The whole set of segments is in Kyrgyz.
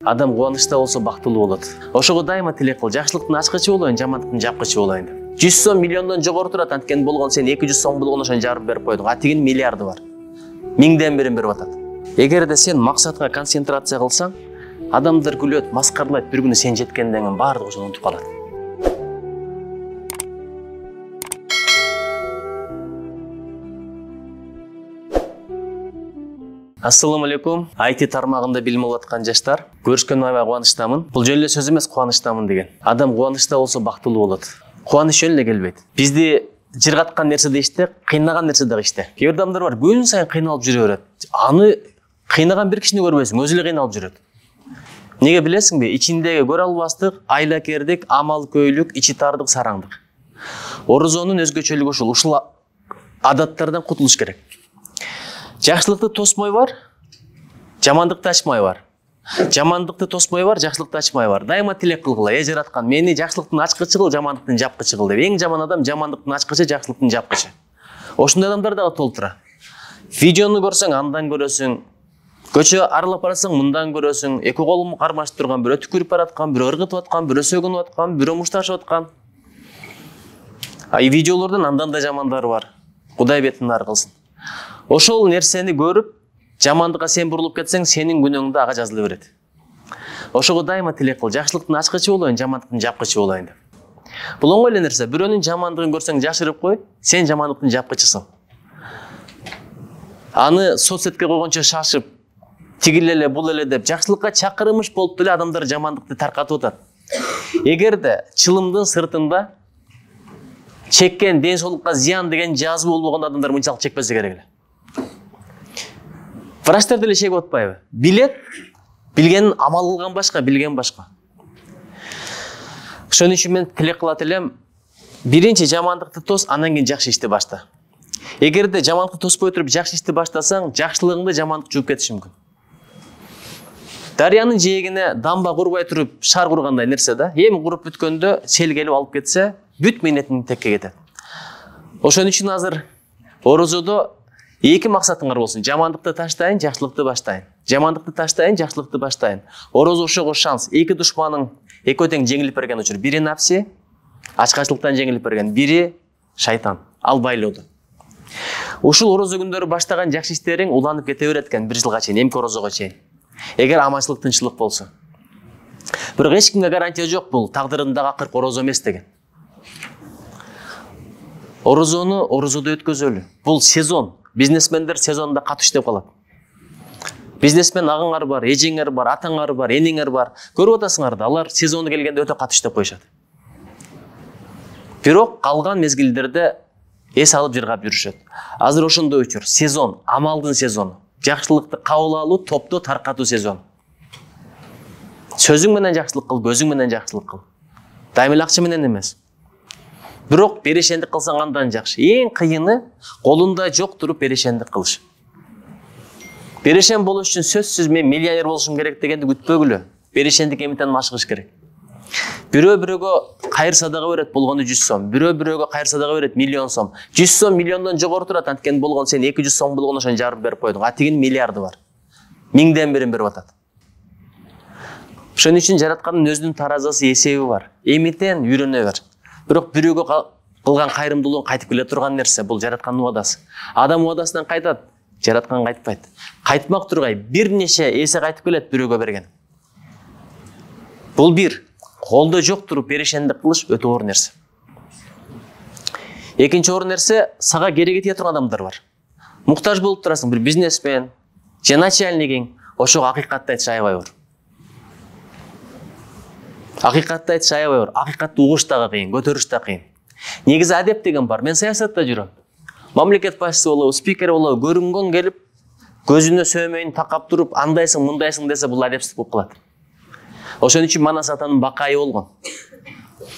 Адам кубанычта болсо бактылуу болот. Ошого дайыма тилек кыл, жакшылыктын ачкычы болоюн, жамандыктын жапкычы болоюн деп. 100 сом миллиондон жогору турат, анткени болгон сен 200 сом болгон ошону жарып берип койдуң. А тигинин миллиарды бар. 1000ден бирин берип атат. Эгерде сен максатка концентрация кылсаң, адамдар күлөт, маскарлайт, бир күнү сен жеткенден кийин баардыгы ошону унутуп калат. Ассаламу алейкум. IT тармагында билим алып аткан жаштар, көрүшкөнүмө аябай кубанычтамын. Бул жөн эле сөз эмес, кубанычтамын деген. Адам кубанычта болсо бактылуу болот. Кубаныч жөн эле келбейт. Бизди жыргаткан нерсе да иште, кыйнаган нерсе да иште. Кээ бир адамдар бар, күн сайын кыйналып жүрө берет. Аны кыйнаган бир кишини көрбөйсүң, өзү эле кыйналып жүрөт. Неге билесиңби? Ичиндеги көрө албастык, айлакердик, амалкөйлүк, ичи тардык, сараңдык. Орозонун өзгөчөлүгү ушул. Ушул адаттардан кутулуш керек. Жакшылыкты тосмой бар, жамандыкты ачмай бар. Жамандыкты тосмой бар, жакшылыкты ачмай бар. Дайыма тилек кылгыла, жараткан, мени жакшылыктын ачкычы кыл, жамандыктын жапкычы кыл деп. Эң жаман адам жамандыктын ачкычы, жакшылыктын жапкычы. Ошондой адамдар дагы толтура. Видеону көрсөң, андан көрөсүң. Көчө аралап барасың, мындан көрөсүң. Эки колун кармашып турган, бирөө түкүрүп бараткан, бирөө ыргытып аткан, бирөө сөгүнүп аткан, бирөө мушташып аткан. Видеолордон андан да жамандары бар. Кудай бетин ар кылсын. Ошол нерсени көрүп, жамандыкка сен бурулуп кетсең, сенин күнөөңдө ага жазыла берет. Ошого дайыма тилек кыл, жакшылыктын ачкычы болоюн, жамандыктын жапкычы болоюн деп. Бул оңой эле нерсе. Бирөөнүн жамандыгын көрсөң, жашырып кой, сен жамандыктын жапкычысың. Аны соцсетке койгончо шашып, тигил эле, бул эле деп жакшылыкка чакырымыш болуп деле адамдар жамандыкты таркатып атат. Эгерде чылымдын сыртында чеккен ден соолукка зыян деген жазуу болбогондо адамдар мынчалык чекпесе керек эле. Врачтар деле чегип атпайбы? Билет, билгенин амал кылган башка, билген башка. Ошон үчүн мен тилек кылат элем, биринчи жамандыкты тос, андан кийин жакшы ишти башта. Эгерде жамандыкты тоспой туруп жакшы ишти баштасаң, жакшылыгыңды жамандык жууп кетиши мүмкүн. Дарыянын жээгине дамба курбай туруп шаар кургандай нерсе да. Эми куруп бүткөндө сел келип алып кетсе, бүт мээнетиң текке кетет. Ошон үчүн азыр орозодо эки максатыңар болсун. Жамандыкты таштайын, жакшылыкты баштайын. Жамандыкты таштайын, жакшылыкты баштайын. Орозо ошого шанс. Эки душманың экөө тең жеңилип берген учур. Бири нафси, ачкачылыктан жеңилип берген, бири шайтан. Ал байлоодо. Ушул орозо күндөрү баштаган жакшы иштериң уланып кете берет экен 1 жылга чейин, эмки орозого чейин. Эгер аманчылык, тынччылык болсо. Бирок эч кимге гарантия жок, бул тагдырындагы акыркы орозо эмес деген. Орозону орозодо өткөзөлү. Бул сезон. Бизнесмендер сезонда катуу иштеп калат. Бизнесмен агыңар бар, эжеңер бар, атаңар бар, энеңер бар. Көрүп атасыңар да, алар сезону келгенде өтө катуу иштеп коюшат. Бирок калган мезгилдерде эс алып жыргап жүрүшөт. Азыр ошондой учур. Сезон, амалдын сезону. Жакшылыкты кабыл алуу, топто таркатуу сезону. Сөзүң менен жакшылык кыл, көзүң менен жакшылык кыл. Дайыма эле акча менен эмес. Бирок берешендик кылсаң андан жакшы. Эң кыйыны колунда жок туруп берешендик кылыш. Берешен болуш үчүн сөзсүз мен миллионер болушум керек дегенди күтпөгүлө. Берешендик эмитен машыгыш керек. Бирөө бирөөгө кайыр садага берет, болгону 100 сом. Бирөө бирөөгө кайыр садага берет, 1 миллион сом. 100 сом миллиондон жогору турат, анткени болгон сен 200 сом болгону ошону жарып берип койдуң. А тигинин миллиарды бар. 1000ден бирин берип атат. Ошон үчүн жараткандын өзүнүн таразасы, эсеби бар. Эмитен үйрөнө бер. Бирок бирөөгө кылган кайрымдуулугун кайтып келе турган нерсе, бул жараткандын убадасы. Адам убадасынан кайтат, жараткан кайтпайт. Кайтмак тургай бир нече эсе кайтып келет бирөөгө берген. Бул бир. Колдо жок туруп берешендик кылыш өтө оор нерсе. Экинчи оор нерсе, сага кереги тие турган адамдар бар. Муктаж болуп турасың, бир бизнесмен, же начальнигиң, ошого акыйкатты айтыш аябай оор. Акыйкатты айтыш аябай оор. Акыйкатты угуш дагы кыйын, көтөрүш да кыйын. Негизи адеп деген бар. Мен саясатта жүрөм. Мамлекет башчысы болобу, спикер болобу, көрүнгөн келип, көзүнө сөөмөйүн такап туруп, андайсың, мындайсың десе, бул адепсиздик болуп калат. Ошон үчүн Манас атанын бакайы болгон.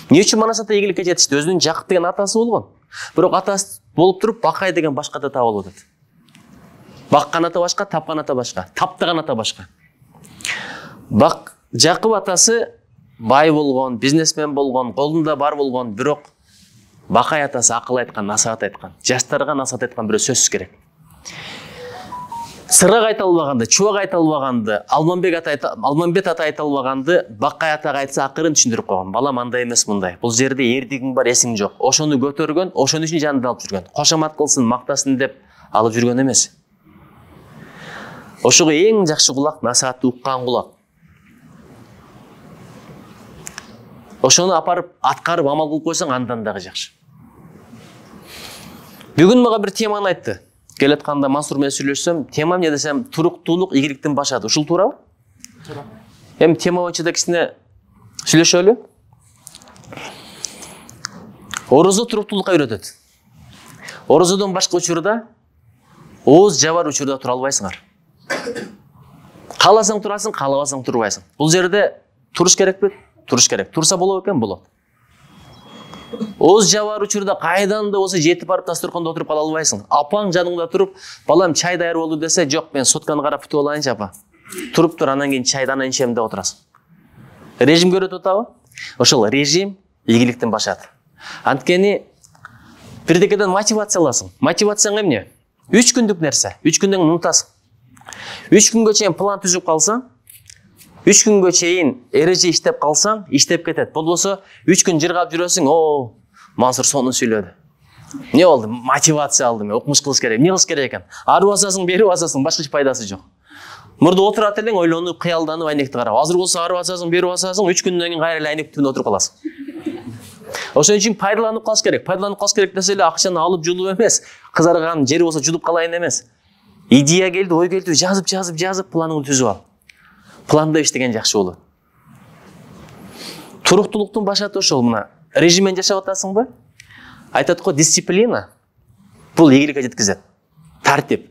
Эмне үчүн Манас ата ийгиликке жетишти? Өзүнүн Жакып деген атасы болгон. Бирок атасы болуп туруп, бакай деген башка ата табылып атат. Баккан ата башка, тапкан ата башка, таптаган ата башка. Жакып атасы бай болгон, бизнесмен болгон, колунда бар болгон, бирок бакай атасы акыл айткан, насаат айткан, жаштарга насаат айткан бирөө сөзсүз керек. Сырак айта албаганды, Чубак айта албаганды, Алмамбет ата айта албаганды Бакай атага айтса акырын түшүндүрүп койгон. Балам андай эмес мындай. Бул жерде эрдигиң бар, эсиң жок. Ошону көтөргөн, ошон үчүн жанында алып жүргөн. Кошомат кылсын, мактасын деп алып жүргөн эмес. Ошого эң жакшы кулак насаатты уккан кулак. Ошону апарып аткарып амал кылып койсоң андан дагы жакшы. Бүгүн мага бир теманы айтты. Келатканда Мансур менен сүйлөшсөм, темам эмне десем, туруктуулук ийгиликтин башаты. Ушул туурабы? Туура. Эми тема боюнча да кичине сүйлөшөлү. Орозо туруктуулукка үйрөтөт. Орозодон башка учурда ооз жабар учурда тура албайсыңар. Кааласаң турасың, каалабасаң турбайсың. Бул жерде туруш керекпи? Туруш керек. Турса болот экен, болот. Ооз жабар учурда кайдан да болсо жетип барып дасторкондо отуруп кала албайсың. Апаң жаныңда туруп, балам чай даяр болду десе, жок, мен сотканы карап күтүп алайынчы апа. Туруп тур, анан кийин чайды анан ичем деп отурасың. Режимге үйрөтүп атабы? Ошол режим ийгиликтин башаты. Анткени бирдекеден мотивация аласың. Мотивацияң эмне? 3 күндүк нерсе. 3 күндөн унутасың. 3 күнгө чейин план түзүп калсаң, 3 күнгө чейин эреже иштеп калсаң, иштеп кетет. Болбосо 3 күн жыргап жүрөсүң, о, Мансур сонун сүйлөдү. Эмне болду? Мотивация алдым, окумуш кылыш керек. Эмне кылыш керек экен? Ары басасың, бери басасың, башка эч пайдасы жок. Мурда отурат элең, ойлонуп, кыялданып, айнекти карап. Азыр болсо ары басасың, бери басасың, 3 күндөн кийин кайра эле айнек түбүндө отуруп каласың. Ошон үчүн пайдаланып калыш керек. Пайдаланып калыш керек десе эле акчаны алып жулуп эмес, кызарган жери болсо жулуп калайын эмес. Идея келди, ой келди, жазып, планыңды түзүп ал. Планда иштеген жакшы болот. Туруктуулуктун башаты ошол мына. Режиммен жашап атасыңбы? Айтат го, дисциплина бул ийгиликке жеткизет. Тартип.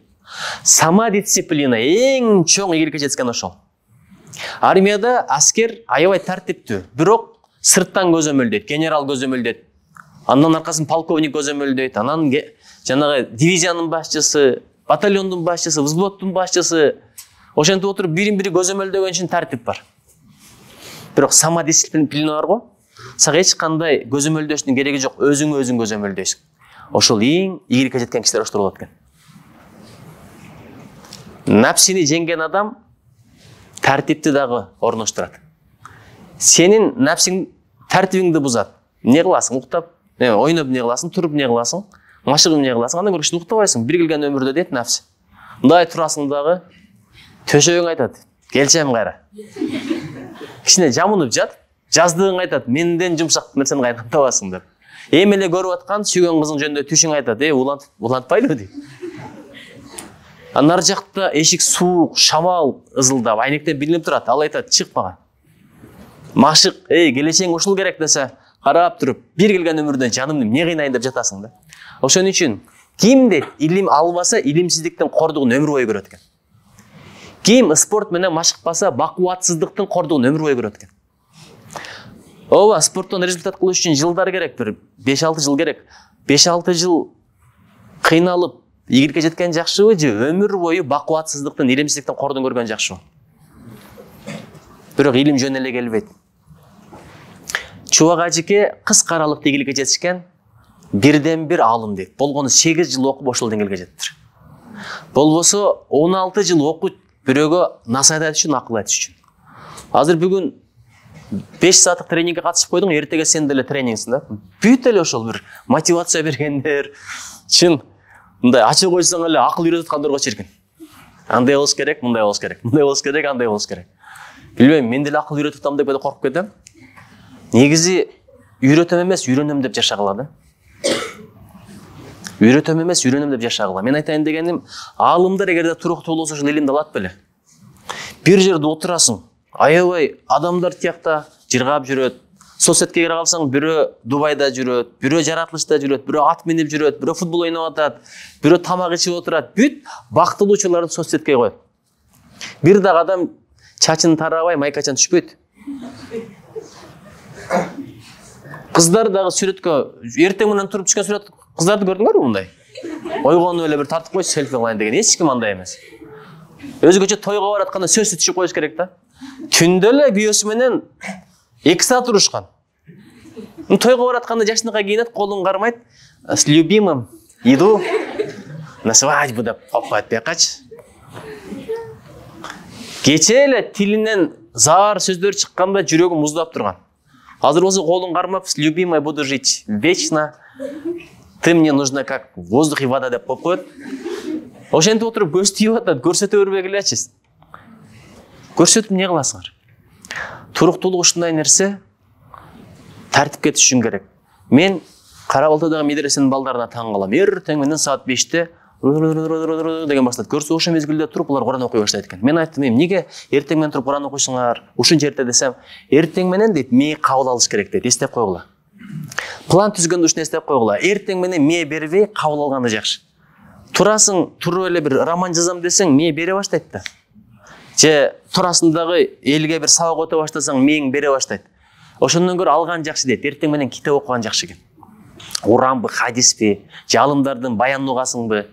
Самодисциплина эң чоң ийгиликке жеткен ошол. Армияда аскер аябай тартиптүү, бирок сырттан көзөмөлдөйт, генерал көзөмөлдөйт. Андан аркасын полковник көзөмөлдөйт, анан жанагы дивизиянын башчысы, батальондун башчысы, взводдун башчысы, ошентип отуруп бирин-бири көзөмөлдөгөн үчүн тартип бар. Бирок самодисциплина бар го, сага эч кандай көзөмөлдөштүн кереги жок, өзүң көзөмөлдөйсүң. Ошол эң ийгиликке жеткен кишилер ошол болот экен. Напсини жеңген адам тартипти дагы орноштурат. Сенин напсиң тартибиңди бузат. Эмне кыласың? Уктап, ойноп эмне кыласың? Туруп эмне кыласың? Машыгып эмне кыласың? Андан көрүп уктабайсың. Бир келген өмүрдө дейт напс. Мындай турасың дагы төшөгүң айтат. Келчем кайра. Кичине жамынып жат. Жаздыгың айтат. Менден жумшак нерсени кайдан табасың деп. Эми эле көрүп аткан сүйгөн кызың жөнүндө түшүң айтат. Улантпайлы дейт. Анар жакта эшик суук, шамал ызылдап, айнектен билинип турат. Ал айтат, чыкпаган. Машык, келечең ушул керек десе, карап туруп, бир келген өмүрдөн жанымды эмне кыйнайын деп жатасың да. Ошон үчүн ким дейт, илим албаса, илимсиздиктин кордугун өмүр бою көрөт экен. Ким спорт менен машыкпаса, бакубатсыздыктын кордугун өмүр бою көрөт экен. Ооба, спорттон результат кылыш үчүн жылдар керек, бир 5-6 жыл керек. 5-6 жыл кыйналып, ийгиликке жеткен жакшыбы же өмүр бою бакубатсыздыктын, илимсиздиктин кордугун көргөн жакшыбы? Бирок илим жөн эле келбейт. Чубак ажыке кыска аралыкта ийгиликке жетишкен бирден бир аалым дейт. Болгону 8 жыл окуп ошол деңгээлге жеттир. Болбосо 16 жыл окуп бирөөгө насаат айтыш үчүн, акыл айтыш үчүн. Азыр бүгүн 5 сааттык тренингге катышып койдуң, эртеге сен деле тренингсиң да. Бүт эле ошол бир мотивация бергендер, чын мындай ачып койсоң эле акыл үйрөтүп аткандарга чиркин. Андай болуш керек, мындай болуш керек. Мындай болуш керек, андай болуш керек. Билбейм, мен деле акыл үйрөтүп атам деп эле коркуп кетем. Негизи үйрөтөм эмес, үйрөнөм деп жашагыла да. Үйрөтөм эмес, үйрөнөм деп жашагыла. Мен айтайын дегеним, аалымдар эгерде туруктуу болсо ошол илимди алат беле. Бир жерде отурасың, аябай адамдар тиякта жыргап жүрөт. Соцсетке кире калсаң, бирөө Дубайда жүрөт, бирөө жаратылышта жүрөт, бирөө ат минип жүрөт, бирөө футбол ойноп атат, бирөө тамак ичип отурат. Бүт бактылуучуларды соцсетке коет. Бир дагы адам чачын тарабай, майкачан түшпөйт. Кыздар дагы сүрөткө эртең менен туруп түшкөн сүрөт кыздарды көрдүңөрбү мындай? Ойгонуп эле бир тартып койчу, селфи кылайын деген. Эч ким андай эмес. Өзгөчө тойго баратканда сөзсүз түшүп коюш керек да. Түндө эле күйөөсү менен 2 саат турушкан. Тойго баратканда жашыныкка кийинет, колун кармайт. С любимым иду на свадьбу деп коппайт бекачы. Кече эле тилинен заар сөздөр чыкканда жүрөгүм муздап турган. Азыр болсо колуң кармап, любимая, буду жить вечно. Ты мне нужна как воздух и вода деп коет. Ошентип отуруп көз тийип атат, көрсөтө бербегилечи. Көрсөтүп эмне кыласыңар? Туруктуулук ушундай нерсе, тартипке түшүшүң керек. Мен Кара Балтадагы медресенин балдарына таң калам. Эртең менен саат 5-те деген баштайт. Көрсө ошо мезгилде туруп булар Куран окуй баштайт экен. Мен айттым, эмнеге эртең менен туруп Куран окуйсуңар? Ушунча эрте десем, эртең менен дейт, мээ кабыл алыш керек дейт. Эстеп койгула. План түзгөндө ушуну эстеп койгула. Эртең менен мээ бербей кабыл алганы жакшы. Турасың, туруп эле бир роман жазам десең, мээ бере баштайт да. Же турасың дагы элге бир сабак өтө баштасаң, мээң бере баштайт. Ошондон көрө алган жакшы дейт. Эртең менен китеп окуган жакшы экен. Уранбы, хадиспи, жалымдардын баянын угасыңбы.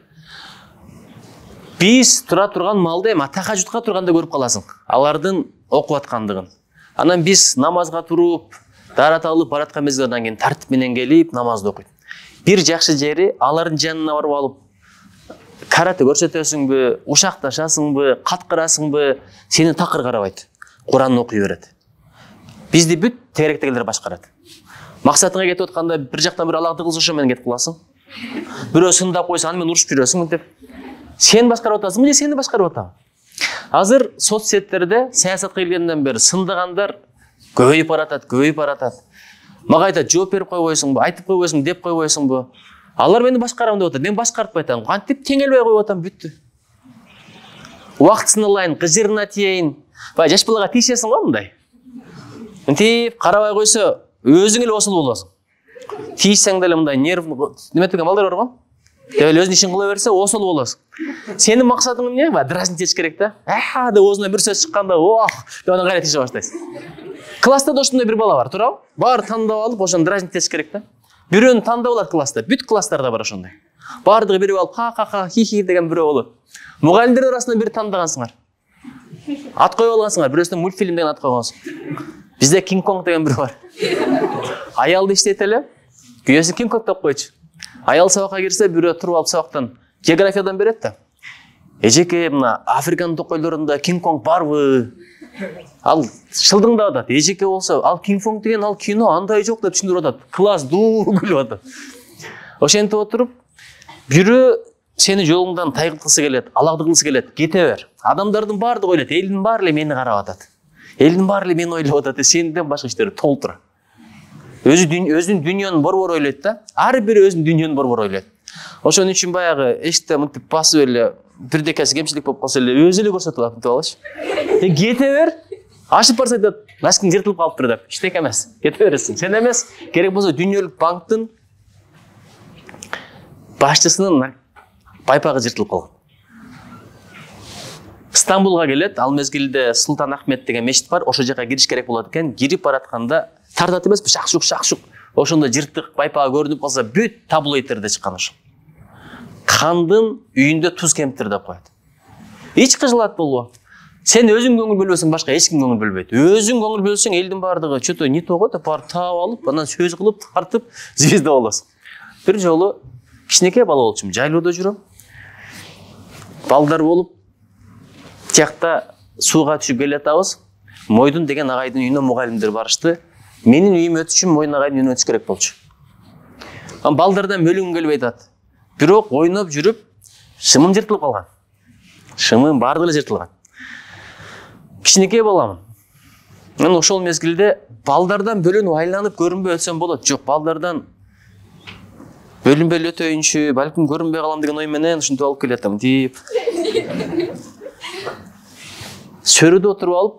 Биз тура турган малда эми тахажжудка турганда көрүп каласың. Алардын окуп аткандыгын. Анан биз намазга туруп, дарат алып бараткан мезгилден кийин тартип менен келип намазды окуйт. Бир жакшы жери алардын жанына барып алып карате көрсөтөсүңбү, ушакташасыңбы, каткырасыңбы, сени такыр карабайт. Куранды окуй берет. Бизди бүт тегеректегилер башкарат. Максатыңа кетип атканда бир жактан бир алагды кылса ошо менен кетип каласың. Бирөө сындап койсо аны менен урушуп жүрөсүң деп. Сен башкарып атасыңбы же сени башкарып атабы? Азыр соцсеттерде саясатка келгенден бери сындагандар көбөйүп баратат. Мага айтат, жооп берип койбойсуңбу, айтып койбойсуңбу, деп койбойсуңбу? Алар мени башкарам деп атат. Мен башкартпай атам. Кантип теңелбей коюп атам, бүттү. Убактысын алайын, кыжырына тиейин. Бай жаш балага тийишесиң го мындай. Мынтип карабай койсо, өзүң эле осул болосуң. Тийишсең деле мындай нерв неметкен балдар бар го? Деп эле өзүнүн ишин кыла берсе, осул болосуң. Сенин максатың эмне? Дразнить этиш керек да. Деп оозунан бир сөз чыкканда, ох, деп анан кайра тийише баштайсың. Класста да ошондой бир бала бар, туурабы? Баары тандап алып, ошону дразнить этиш керек да. Бирөөнү тандап алат класста. Бүт класстарда бар ошондой. Баардыгы бирип алып, ха-ха-ха, хи-хи деген бирөө болот. Мугалимдер арасынан бир тандагансыңар. Ат коюп алгансыңар, бирөөсүнө мультфильм деген ат койгонсуң. Бизде Кинг Конг деген бирөө бар. Аялды иштейт эле, күйөөсү Кинг Конг деп койчу. Аял сабакка кирсе, бирөө туруп алып сабактан географиядан берет да. Эжеке, мына Африканын токойлорунда Кинг Конг барбы? Ал шылдыңдап атат. Эжеке болсо, ал Кинг Конг деген ал кино андай жок деп түшүндүрүп атат. Класс дуу күлүп атат. Ошентип отуруп, бирөө сени жолуңдан тайгылткысы келет, алагды кылгысы келет, кете бер. Адамдардын баардыгы ойлойт, элдин баары эле мени карап атат. Элдин баары эле мени ойлоп атат, сенден башка иштери толтура. Өзүнүн дүйнөнүн борбор ойлойт да. Ар бири өзүнүн дүйнөнүн борбор ойлойт. Ошон үчүн баягы эшикте мынтип басып эле бирдекеси кемчилик болуп калса эле өзү эле көрсөтүп алат, мынтип алачы. Кете бер. Ашып барса айтат, носкиң жыртылып калыптыр деп. Иштек эмес. Кете бересиң. Сен эмес, керек болсо дүйнөлүк банктын башчысынын байпагы жыртылып калган. Стамбулга келет, ал мезгилде Султан Ахмет деген мешит бар, ошол жака кириш керек болот экен. Кирип баратканда тартат эмеспи, шакшук. Ошондо жыртык байпага көрүнүп калса, бүт таблоидтерде чыккан ошо. Кандын үйүндө туз кемптир деп коет. Эч кыжылат болбо. Сен өзүң көңүл бөлбөсөң, башка эч ким көңүл бөлбөйт. Өзүң көңүл бөлсөң, элдин баардыгы чөтө не того деп барып таап алып, анан сөз кылып, тартып, звезда болосуң. Бир жолу кичинекей бала болчумун, жайлоодо жүрөм. Балдар болуп, тиякта сууга түшүп келатабыз. Мойдун деген агайдын үйүнө мугалимдер барышты. Менин үйүм өтүш үчүн Мойдун агайдын үйүнө өтүш керек болчу. Анан балдардан бөлүнгүм келбей атат. Бирок ойноп жүрүп, шымым жыртылып калган. Шымым баардыгы эле жыртылган. Кичинекей баламын. Мен ошол мезгилде балдардан бөлүнүп айланып көрүнбөй өтсөм болот. Жок, балдардан бөлүнбөй эле өтөйүнчү, балким көрүнбөй калам деген ой менен ушинтип алып келатам деп. Сөрүдө отуруп алып,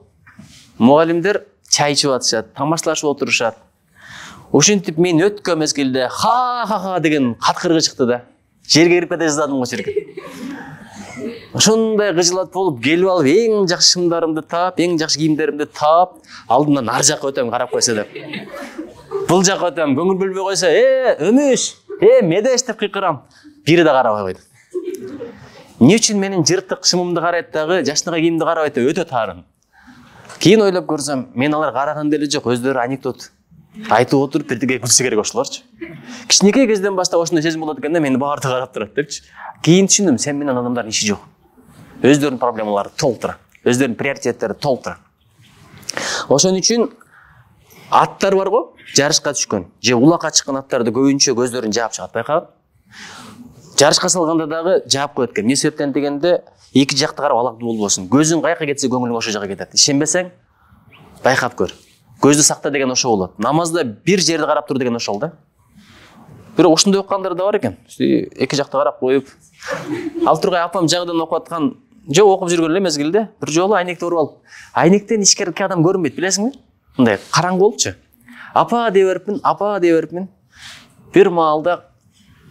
мугалимдер чай ичип атышат, тамашташып отурушат. Ошентип мен өткөн мезгилде ха-ха-ха деген каткыргы чыкты да. Жерге кирип кете жаздадым го жерге. Ошондой кыжылат болуп, келип алып, эң жакшы шымдарымды таап, эң жакшы кийимдеримди таап, алдымдан ар жакка өтөм карап койсо деп. Бул жакка өтөм, көңүл бөлбөй койсо, өмүш, медеш деп кыйкырам. Бири да карабай койду. Эмне үчүн менин жыртык шымымды карайт дагы, жашныга кийимди карабайт деп өтө таарын. Кийин ойлоп көрсөм, мен алар караган деле жок, өздөрү анекдот айтып отуруп бирдеге күлсө керек ошолорчу. Кичинекей кезден баштап ошондой сезим болот экен да, мени баардыгы карап турат депчи. Кийин түшүндүм, сен менен адамдардын иши жок. өздөрүнүн проблемалары толтура, өздөрүнүн приоритеттери толтура. Ошон үчүн аттар бар го, жарышка түшкөн же улакка чыккан аттарды көбүнчө көздөрүн жаап чыгат, байкабы. Жарышка салганда дагы жаап коет экен. Эмне себептен дегенде, эки жакты карап алакты болбосун. Көзүң каяка кетсе көңүлүң ошол жака кетет. Ишенбесең, байкап көр. Көздү сакта деген ошол болот. Намазда бир жерди карап тур деген ошол да. Бирок ушундай окугандар да бар экен. Эки жакты карап коюп, ал тургай апам жагыдан окуп аткан, жок окуп жүргөн эле мезгилде бир жолу айнекти уруп алып, айнектен ичкерки адам көрүнбөйт, билесиңби? Мындай караңгы болупчу. Апа дей берипмин. Бир маалда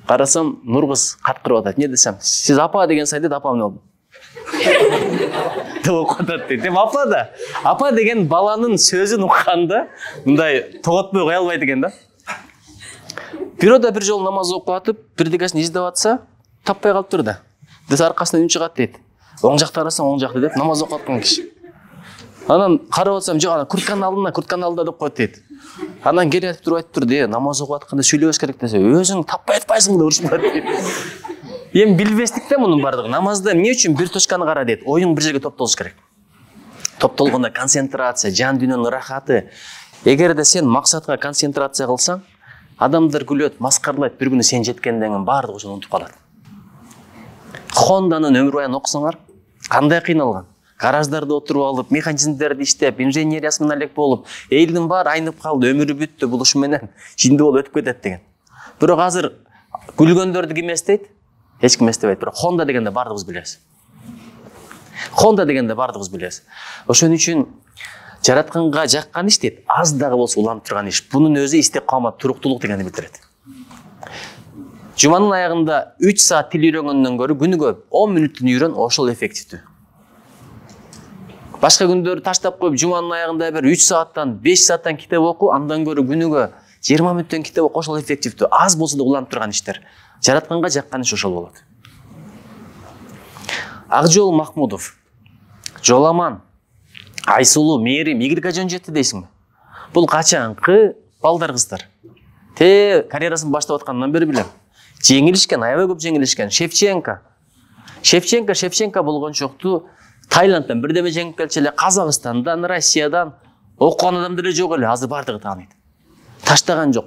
карасам, нур кыз каткырып атат. Эмне десем, сиз апа деген сайын дейт, апам эмне болду? Деп окуп атат дейт. Апа да. Апа деген баланын сөзүн укканда мындай тоготпой кое албайт экен да. Бирөөдө бир жолу намаз окуп атып, бирдекесин издеп атса, таппай калыптыр да. Десе аркасынан үн чыгат дейт. Оң жакта карасаң, оң жакта деп намаз окуп аткан киши. Анан карап атсам, жок, ана куртканын алдында деп коет дейт. Анан келип айтып тур, намаз окуп атканда сүйлөбөш керек десе, өзүң таппай атпайсың деп урушмат дейт. Эми билбестик да мунун бардыгы. Намазда эмне үчүн бир точканы кара дейт? Оюң бир жерге топтолуш керек. Топтолгондо концентрация, жан дүйнөнүн рахаты. Эгерде сен максатка концентрация кылсаң, адамдар күлөт, маскарлайт, бир күнү сен жеткенден кийин баардыгы ошону унутуп калат. Хондонун өмүр баянын окусаңар, кандай кыйналган. Гараждарда отуруп алып, механизмдерди иштеп, инженериясы менен элек болуп, элдин баары айнып калды, өмүрү бүттү, бул ушу менен жиндүү болуп өтүп кетет деген. Бирок азыр күлгөндөрдү ким эстейт? Эч ким эстебейт. Бирок Honda дегенде баардыгыбыз билебиз. Ошон үчүн жаратканга жаккан иш дейт, аз дагы болсо уланып турган иш. Бунун өзү истикамат, туруктуулук дегенди билдирет. Жуманын аягында 3 саат тил үйрөнгөндөн көрө күнүгө 10 мүнөттүн үйрөн, ошол эффективдүү. Башка күндөрү таштап коюп, жуманын аягында бир 3 сааттан 5 сааттан китеп оку, андан көрө күнүгө 20 мүнөттөн китеп оку, ошол эффективдүү. Аз болсо да уланып турган иштер. Жаратканга жаккан иш ошол болот. Акжол Махмудов, жоламан, айсулуу, мээрим, игілік жөн жетти дейсиңби? Бул качанкы балдар кыздар. Карьерасын баштап аткандан бери билем. Жеңилишкен, аябай көп жеңилишкен. Шевченко болгончокту Таиландтан бирдеме жеңип келчү эле, Казакстандан, Россиядан окуган адамдар эле жок эле, азыр бардыгы тааныйт. Таштаган жок.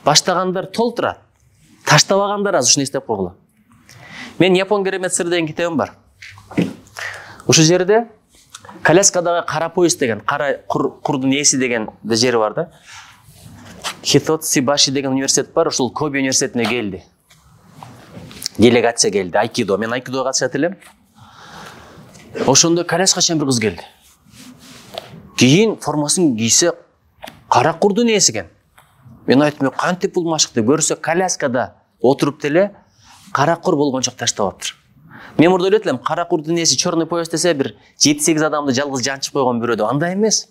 Баштагандар толтурат. Таштабагандар аз ушуну эстеп койгула. Мен Япон керемет сыр деген китебим бар. Ушул жерде Коляскадагы кара поезд деген, кара курдун ээси деген жери бар да. Хитоцибаши деген университет бар, ушул Коби университетине келди. Делегация келди, айкидо. Мен айкидога катышат элем. Ошондо коляска чейин бир кыз келди. Кийин формасын кийсе кара курдун ээси экен. Мен айттым, кантип бул машыкты көрсө коляскада отуруп деле кара кур болгончок таштап аптыр. Мен мурда ойлойт элем, кара курдун ээси черный поезд десе бир 7-8 адамды жалгыз жанчып койгон бирөөдө, андай эмес.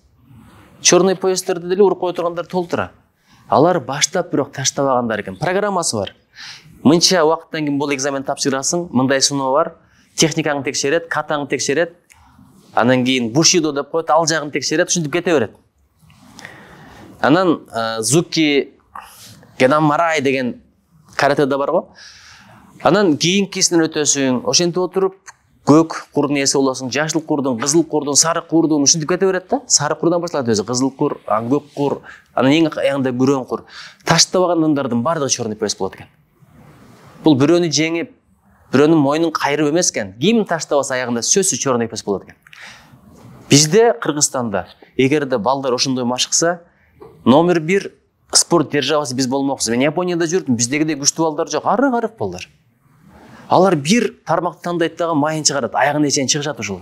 Черный поезддерди деле уруп кое тургандар толтура. Алар баштап бирок таштабагандар экен. Программасы бар. Мынча убакыттан кийин бул экзамен тапшырасың, мындай сыноо бар. Техникаңды текшерет, катаңды текшерет. Анан кийин бушидо деп коет, ал жагын текшерет, ушинтип кете берет. Анан Зуки Генамарай деген каратэда бар го. Анан кийинкисинен өтөсүң, ошентип отуруп көк курдун ээси болосуң, жашыл курдун, кызыл курдун, сары курдун ушинтип кете берет да. Сары курдан башталат өзү, кызыл кур, көк кур, анан эң аягында күрөң кур. Таштабаган адамдардын бардыгы черный поезд болот экен. Бул бирөөнү жеңип, бирөөнүн мойнун кайрып эмес экен. Ким таштабаса аягында сөзсүз черный поезд болот экен. Бизде Кыргызстанда эгерде балдар ошондой машыкса, номер 1 спорт державасы биз болмокпуз. Мен Японияда жүрдүм, биздегидей күчтүү балдар жок, арык балдар. Алар бир тармакты тандайт дагы майын чыгарат, аягына чейин чыгышат ошолор.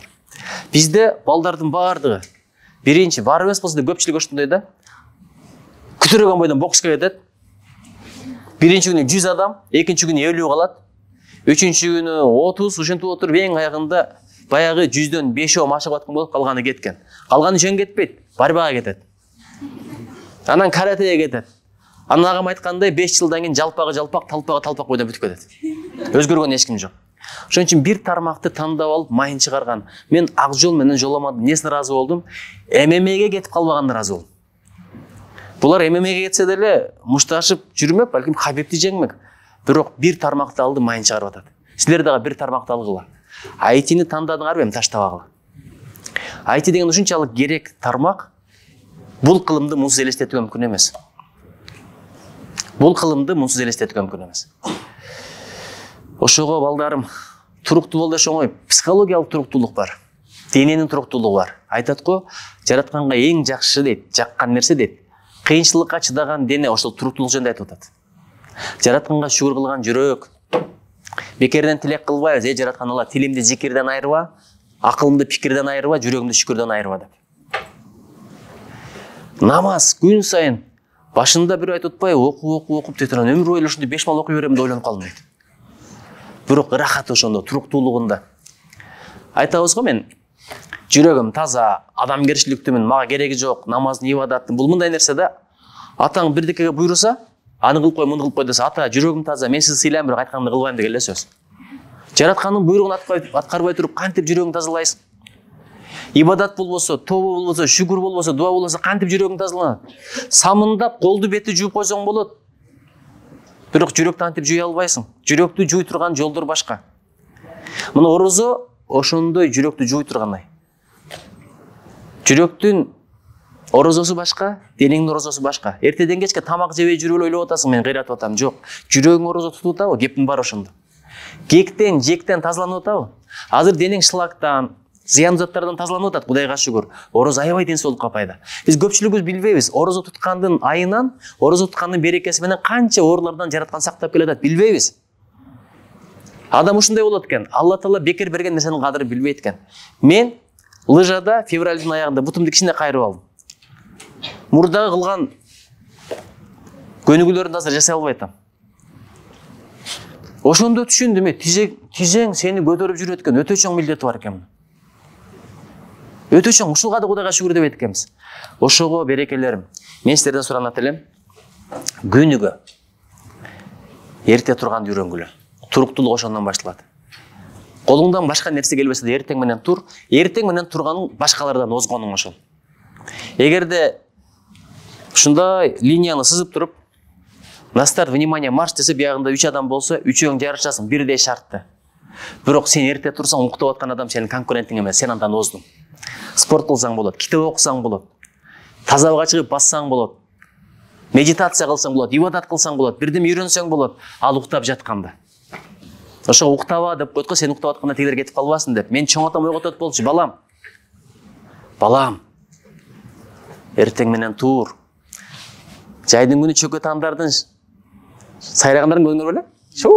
Бизде балдардын баардыгы биринчи бар эмес болсо да көпчүлүк ошондой да. Күтүрөгөн бойдон бокска кетет. Биринчи күнү 100 адам, экинчи күнү 50 калат. Үчүнчү күнү 30, ушинтип отуруп эң аягында баягы 100дөн 5 машыгып аткан болуп, калганы кеткен. Калганы жөн кетпейт, борьбага кетет. Анан каратеге кетет. Анан агам айткандай 5 жылдан кийин жалпак, талпак бойдон бүтүп кетет. Өзгөргөн эч ким жок. Ошон үчүн бир тармакты тандап алып майын чыгарган. Мен Акжол менен жоламадым, несине ыраазы болдум? ММАге кетип калбаганына ыраазы болдум. Булар ММАге кетсе деле мушташып жүрмөк, балким Хабибти жеңмек. Бирок бир тармакты алды, майын чыгарып атат. Силер дагы бир тармакты алгыла. айтини тандадыңарбы, эми таштабагыла. Айти деген ушунчалык керек тармак, бул кылымды мунсуз элестетүү мүмкүн эмес. Бул кылымды мунсуз элестетүү мүмкүн эмес. Ошого балдарым, туруктуу бол деш оңой, психологиялык туруктуулук бар. Дененин туруктуулугу бар. Айтат го, жаратканга эң жакшы дейт, жаккан нерсе дейт. Кыйынчылыкка чыдаган дене, ошол туруктуулук жөнүндө айтып атат. Жаратканга шүгүр кылган жүрөк. Бекерден тилек кылбайбыз, жараткан Алла тилимди зикирден айырба, акылымды пикирден айырба, жүрөгүмдү шүкүрдөн айырба деп. Намаз күн сайын башында бир айтып атпайбы, окуп тетран өмүр бою ушундай 5 мал окуй берем деп ойлонуп калдым дейт. Бирок ырахат ошондо, туруктуулугунда. Айтабыз го, мен жүрөгүм таза, адамгерчиликтүүмүн, мага кереги жок, намаздын, ибадаттын. Бул мындай нерсе да. Атаң бирдекеге буйруса, аны кылып кой, муну кылып кой десе, ата жүрөгүм таза, мен сизди сыйлайм, бирок айтканымды кылбайм деген эле сөз. Жараткандын буйругун аткарбай туруп кантип жүрөгүңдү тазалайсың? Ибадат болбосо, тобо болбосо, шүгүр болбосо, дуа болбосо кантип жүрөгүң тазаланат? Самындап колду бетти жууп койсоң болот. Бирок жүрөктү антип жууя албайсың. Жүрөктү жууй турган жолдор башка. Мына орозо ошондой жүрөктү жууй тургандай. Жүрөктүн орозосу башка, денеңдин орозосу башка. Эртеден кечке тамак жебей жүрүп эле ойлоп атасың, мен кыйратып атам. Жок. Жүрөгүң орозо тутуп атабы? Кептин баары ошондо. Кектен, жектен тазаланып атабы? Азыр денең шлактан, зыян заттардан тазаланып атат, Кудайга шүгүр. Орозо аябай ден соолукка пайда. Биз көпчүлүгүбүз билбейбиз. Орозо туткандын айынан, орозо туткандын берекеси менен канча оорулардан жараткан сактап келатат, билбейбиз. Адам ушундай болот экен. Алла Таала бекер берген нерсенин кадырын билбейт экен. Мен лыжада февралдын аягында бутумду кичине кайрып алдым. Мурдагы кылган көнүгүүлөрүмдү азыр жасай албай атам. Ошондо түшүндүм, тизең сени көтөрүп жүрөт экен, өтө чоң милдети бар экен. Өтө чоң, ушуга да Кудайга шүгүр деп айтканбыз. Ошого берекелерим, мен силерден суранат элем, күнүгө эрте турганды үйрөнгүлө. Туруктуулук ошондон башталат. Колуңдан башка нерсе келбесе да эртең менен тур, эртең менен турганың башкалардан озгонуң ошол. Эгерде ушундай линияны сызып туруп, на старт, внимание, марш десе, биягында 3 адам болсо, 3-өң жарышасың, бирдей шартты. Бирок сен эрте турсаң, уктап аткан адам сенин конкурентиң эмес, сен андан оздуң. Спорт кылсаң болот, китеп окусаң болот, таза абага чыгып бассаң болот, медитация кылсаң болот, ибадат кылсаң болот, бирдеме үйрөнсөң болот, ал уктап жатканда. Ошо уктаба деп койт го, сен уктап атканда тигилер кетип калбасын деп. Мен чоң атам ойготот болчу, балам. Балам. Эртең менен тур. Жайдын күнү чөкө тандардын сайрагандарын көрдүңөр беле? Шу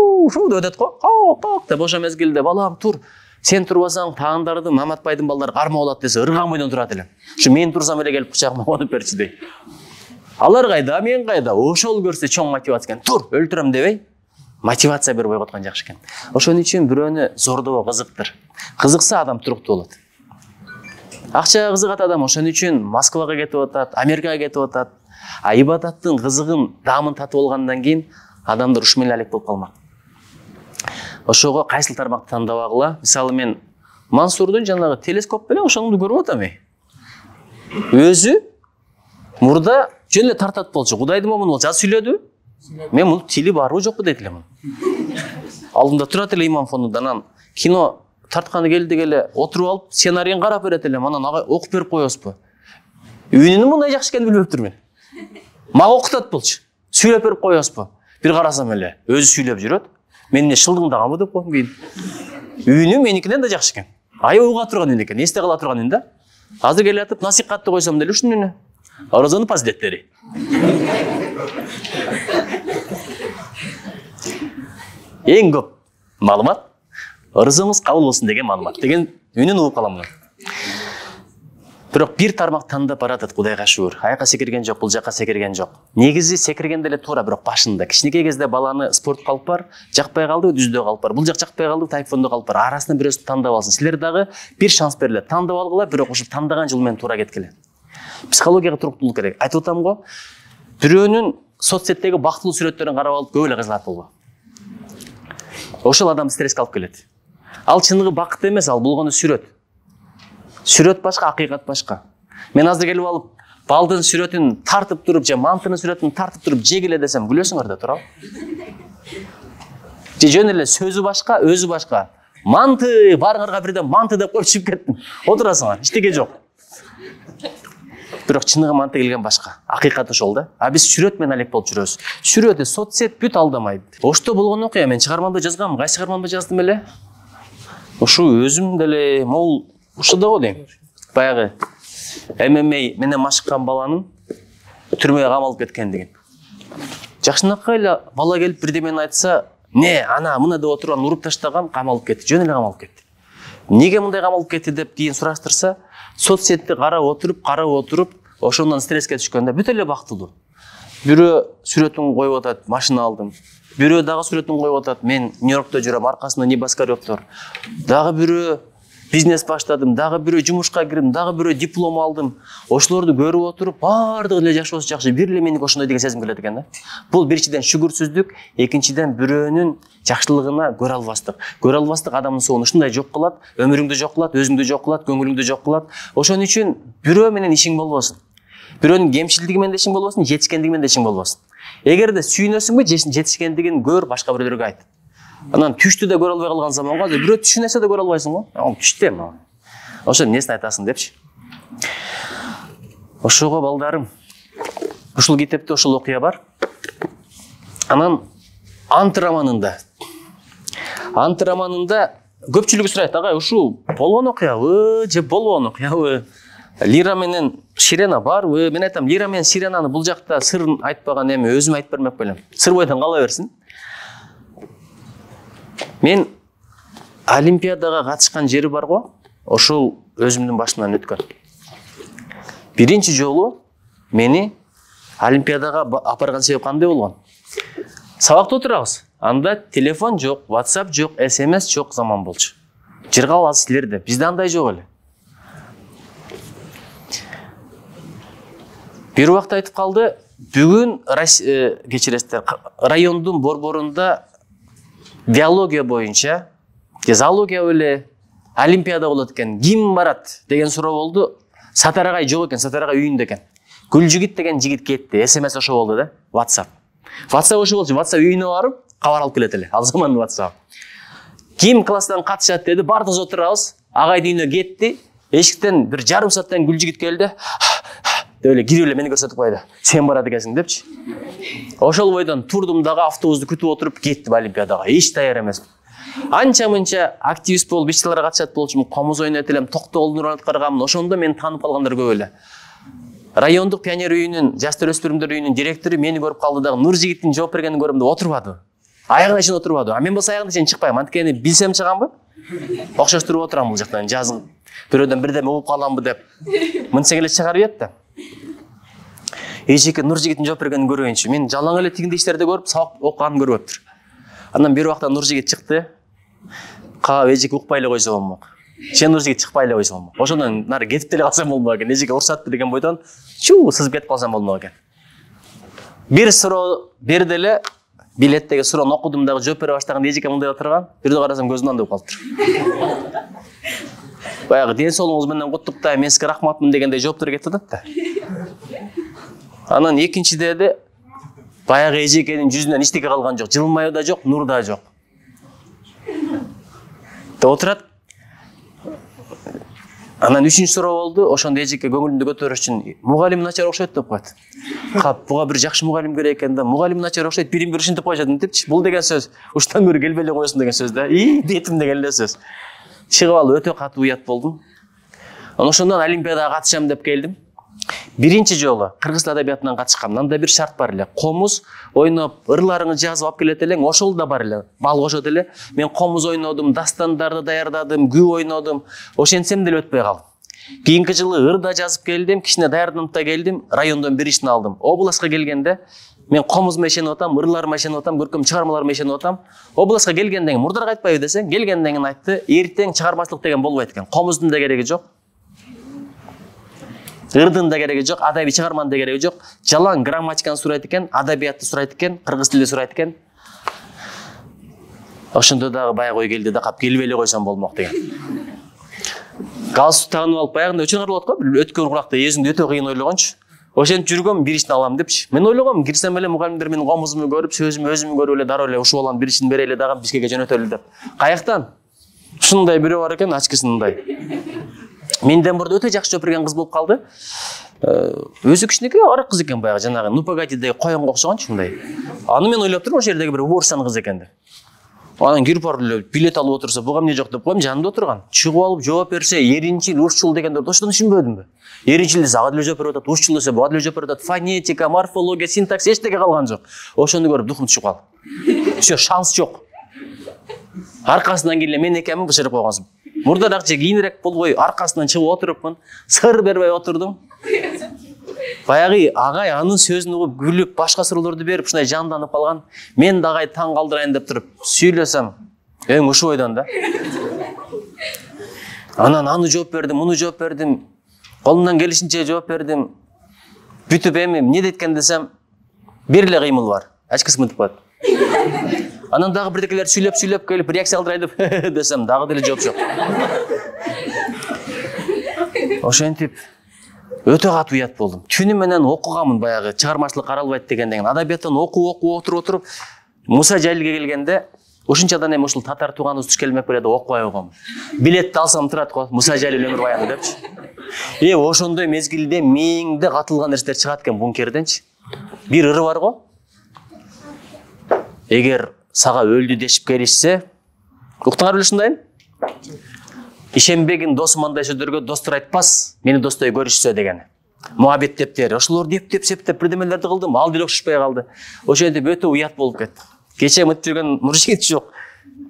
деп өтөт го. Кок деп ошо мезгилде балам тур. Сен турбасаң таандардын Маматбайдын балдары карма болот десе, ыргамойдон турат элем. Ушу мен турсам эле келип кучагыма конуп берчи дей. Алар кайда, мен кайда? Ошол көрсө чоң мотивация экен. Тур, өлтүрөм дебей, мотивация берип ойготкон жакшы экен. Ошон үчүн бирөөнү зордобо кызыктыр. Кызыкса адам туруктуу болот. Акчага кызыгат адам, ошон үчүн Москвага кетип атат, Америкага кетип атат. А ибадаттын кызыгын, даамын татып алгандан кийин адамдар ушу менен алек болуп калмак. Ошого кайсыл тармакты тандабагыла? Мисалы мен Мансурдун жанагы телескоп менен ошону көрүп атам. Өзү мурда жөн эле тартат болчу. Кудайдын момуну жаз сүйлөдү. Мен муну тили барбы жокпу дейт элем. Алдымда турат эле имам фонунда, анан кино тартканы келди келе отуруп алып, сценарийин карап берет элем, анан окуп берип коебузбу? Үнүнүн мындай жакшы экенин билбептирмин. Мага окутат болчу. Сүйлөп берип коебузбу? Бир карасам эле өзү сүйлөп жүрөт. Мен эмне шылдыңдаганбы деп койдум кийин. Үнү меникинен да жакшы экен. Аябай уга турган үн экен, эсте кала турган үн да. Азыр келе атып насихатты койсом деле ушунун үнү. Орозонун фазилеттери. Эң көп маалымат орозоңуз кабыл болсун деген маалымат деген үнүн угуп калам. Бирок бир тармак тандап баратат, Кудайга шүгүр. Аяка секирген жок, бул жака секирген жок. Негизи секирген деле туура, бирок башында кичинекей кезде баланы спорт калып бар, жакпай калды, дүздө калып бар. Бул жак жакпай калды, тайфондо калып бар. Арасынан бирөөсүн тандап алсын. Силер дагы бир шанс берилет. Тандап алгыла, бирок ошо тандаган жол менен туура кеткиле. Психологияга туруктуулук керек. Айтып атам го, бирөөнүн соцсеттеги бактылуу сүрөттөрүн карап алып көп эле кызыгат болбо. Ошол адам стресске алып келет. Ал чыныгы бакыт эмес, ал болгону сүрөт. Сүрөт башка, акыйкат башка. Мен азыр келип алып, балдын сүрөтүн тартып туруп, же мантынын сүрөтүн тартып туруп жегиле десем, күлөсүңөр да туурабы? Же жөн эле сөзү башка, өзү башка. Манты, барыңарга бирден манты деп коюп чыгып кеттим. Отурасыңар, эчтеке жок. Бирок чыныгы манты келген башка. Акыйкат ошол да. А биз чүрөт менен алек болуп жүрөбүз. Чүрөт, соцсет бүт алдамайт. Ошто болгон окуя мен чыгармамда жазгам. Кайсы чыгармамда жаздым эле? Ушу өзүм деле могул ушуда го дейм. Баягы ММА менен машыккан баланын түрмөгө камалып кеткендигин. Жакшынакай эле бала келип бирдемени айтса, не, ана мына деп отурган уруп таштаган, камалып кетти, жөн эле камалып кетти. Неге мындай камалып кетти деп кийин сураштырса, соцсетти карап отуруп, ошондон стресске түшкөндө бүт эле бактылуу. Бирөө сүрөтүн коюп атат, машина алдым. Бирөө дагы сүрөтүн коюп атат, мен Нью-Йоркто жүрөм, аркасында небоскребтор. Дагы бирөө бизнес баштадым, дагы бирөө жумушка кирдим, дагы бирөө диплом алдым. Ошолорду көрүп отуруп, баардыгы эле жакшы болсо жакшы, бир эле меники ошондой деген сезим келет экен да. Бул биринчиден шүгүрсүздүк, экинчиден бирөөнүн жакшылыгына көрө албастык. Көрө албастык адамдын соонун ушундай жок кылат, өмүрүңдү жок кылат, өзүңдү жок кылат, көңүлүңдү жок кылат. Ошон үчүн бирөө менен ишиң болбосун. Бирөөнүн кемчилдиги менен ишиң болбосун, жетишкендиги менен ишиң болбосун. Эгерде сүйүнөсүңбү, жетишкендигин көр, башка бирөөлөргө айт. Анан түштү да көрө албай калган заманга бирөө түшүн эсе да көрө албайсың го. Ал түштө эми. Ошо эмнесин айтасың депчи. Ошого балдарым. Ушул китепте ушул окуя бар. Анан Ант романында көпчүлүгү сурайт, агай, ушул болгон окуябы же болбогон окуябы? Лира менен Ширена барбы? Мен айтам, Лира менен Ширенаны бул жакта сырын айтпаган эми өзүм айтып бермек белем. Сыр бойдон кала берсин. Мен Олимпиадага катышкан жери бар го, ошол өзүмдүн башымдан өткөн. Биринчи жолу мени Олимпиадага апарган себеп кандай болгон? Сабакта отурабыз. Анда телефон жок, WhatsApp жок, SMS жок заман болчу. Жыргал аз силерде. Бизде андай жок эле. Бир убакта айтып калды, бүгүн кечиресиздер, райондун борборунда биология боюнча, зоология эле Олимпиада болот экен. Ким барат деген суроо болду. Сатарагай жок экен, Сатарагай үйүндө экен. Гүлжигит деген жигит кетти. SMS ошо болду да, WhatsApp ошо болчу. WhatsApp үйүнө барып кабар алып келет эле. Ал замандын WhatsApp. Ким класстан катышат деди, бардыгыбыз отурабыз. Агайдын үйүнө кетти. Эшиктен бир жарым сааттан Гүлжигит келди. Деп эле кирип эле мени көрсөтүп койду. Сен барат экенсиң депчи. Ошол бойдон турдум дагы автобусту күтүп отуруп кеттим Олимпиадага. Эч даяр эмесмин. Анча-мынча активист болуп иш-чараларга катышат болчумун, комуз ойнойт элем, Токтогулдун ролун аткарганмын. Ошондо мени таанып калгандар көп эле. Райондук пионер үйүнүн, жаштар өспүрүмдөр үйүнүн директору мени көрүп калды дагы, Нуржигиттин жооп бергенин көрөм деп отурбады. Аягына чейин отурбады. А мен болсо аягына чейин чыкпайм. Анткени билсем чыганбы? Окшоштуруп отурам бул жактан, жазым. Бирөөдөн бирдеме угуп каламбы деп. Мынтсең эле чыгарып ийет да. Эжеке Нуржигиттин жооп бергенин көрөйүнчү. Мен жалаң эле тигиндей иштерди көрүп, сабак окуганын көрүптүр. Андан бир убакта Нуржигит чыкты. Каа эжеке укпай эле койсо болмок. Сен Нуржигит чыкпай эле койсо болмок. Ошондон нары кетип деле калсам болмок экен. Эжеке уруксатты деген бойдон сызып кетип калсам болмок экен. Бир суроо берди эле, билеттеги суроону окудум дагы жооп бере баштаганда эжеке мындай отурган. Бирде карасам көзүнөн андып калыптыр. Баягы ден соолугуңуз менен куттуктайм, мен сизге рахматмын дегендей жооптор кетип атат да. Анан экинчидеде баягы эжекенин жүзүнөн эчтеке калган жок, жылмайы да жок, нур да жок. Отурат. Анан үчүнчү суроо болду. Ошондо эжеке көңүлүмдү көтөрүш үчүн мугалим начар окшойт деп коет. Кап, буга бир жакшы мугалим керек экен да. Мугалим начар окшойт, бирин-бир ушинтип коюшат депчи. Бул деген сөз уштан көрү келбей эле коесуң деген сөз да. Детим деген эле сөз. Чыгып алып өтө катуу уят болдум. Анан ошондон Олимпиадага катышам деп келдим. Биринчи жолу кыргыз тил адабиятынан катышкам. Анда бир шарт бар эле. Комуз ойноп, ырларыңы жазып алып келет элең, ошол да бар эле. Бал кошот эле. Мен комуз ойнодум, дастандарды даярдадым, күү ойнодум. Ошентсем деле өтпөй калдым. Кийинки жылы ыр да жазып келдим, кичине даярданып да келдим, райондон бир ишин алдым. Областка келгенде мен комузума ишенип атам, ырларыма ишенип атам, көркөм чыгармаларыма ишенип атам. Областка келгенден кийин мурдарга айтпайбы десең, келгенден кийин айтты, эртең чыгармачылык деген болбойт экен. Комуздун да кереги жок. Ырдын да кереги жок, адабий чыгарманын да кереги жок. Жалаң грамматиканы сурайт экен, адабиятты сурайт экен, кыргыз тилди сурайт экен. Ошондо дагы баягы ой келди да, кап келбей эле койсом болмок деген. Галстук тагынып алып баягындай өчүрүп го, өткөн куракта өзүңдү өтө кыйын ойлогончу. Ошентип жүргөм, бир ишин алам депчи. Мен ойлогом, кирсем эле мугалимдер менин комузумду көрүп, сөзүмү өзүмү көрүп эле дароо эле ушул баланын бир ишин берели дагы бизге жөнөтөлү деп. Каяктан? Ушундай бирөө бар экен, ачкысындай. Менден мурда өтө жакшы жооп берген кыз болуп калды. Өзү кичинекей арак кыз экен, баягы жанагы Нупагатидеги коёнго окшогон ушундай. Аны мен ойлоп турмун, ошол жердеги бир уборстан кыз экен деп. Анан кирип барып эле билет алып отурса, буга эмне жок деп коем, жанында отурган. Чыгып алып жооп берсе, эринчил, ушчул дегендерди ошондон түшүнбөдүмбү? Эринчил десе ага деле жооп берип атат, ушчул десе буга деле жооп берип атат, фонетика, морфология, синтакс эчтеке калган жок. Ошону көрүп духум түшүп калды. Всё, шанс жок. Аркасынан келе мен экенмин бышырып койгонсуң. Мурдаракча кийинирээк болбой аркасынан чыгып отурупмун, сыр бербей отурдум. Баягы агай анын сөзүн угуп күлүп, башка суроолорду берип, ушундай жанданып калган. Мен да агай таң калдырайын деп туруп сүйлөсөм, эң ушул ойдон да. Анан аны жооп бердим, муну жооп бердим. Колумдан келишинче жооп бердим. Бүтүп эми эмне дейткен десем, бир эле кыймыл бар. Ачкысы мынтип калат. Анан дагы бирдекелер сүйлөп келип реакция кылдырайын деп десем, дагы деле жооп жок. Ошентип өтө катуу уят болдум. Түнү менен окуганмын, баягы чыгармачылык каралбайт дегенден. Адабияттан окуп отуруп Муса Жалилге келгенде, ошунчадан эми ушул татар тууганыбыз туш келмек беле деп окубай койгом. Билетти алсам турат го, Муса Жалил өмүр баяны депчи. Ошондой мезгилде мээңде катылган нерселер чыгат экен бункерденчи. Бир ыры бар го. Эгер сага өлдү дешип келишсе, уктуңар беле ушундайын? Ишенбегин досум андай сөздөргө достор айтпас, мени достой көрүшсө деген. Муабет дептер. Ошолор деп септеп бирдемелерди кылдым, ал деле окшошпой калды. Ошентип өтө уят болуп кетти. Кече мынтип жүргөн муржигит жок.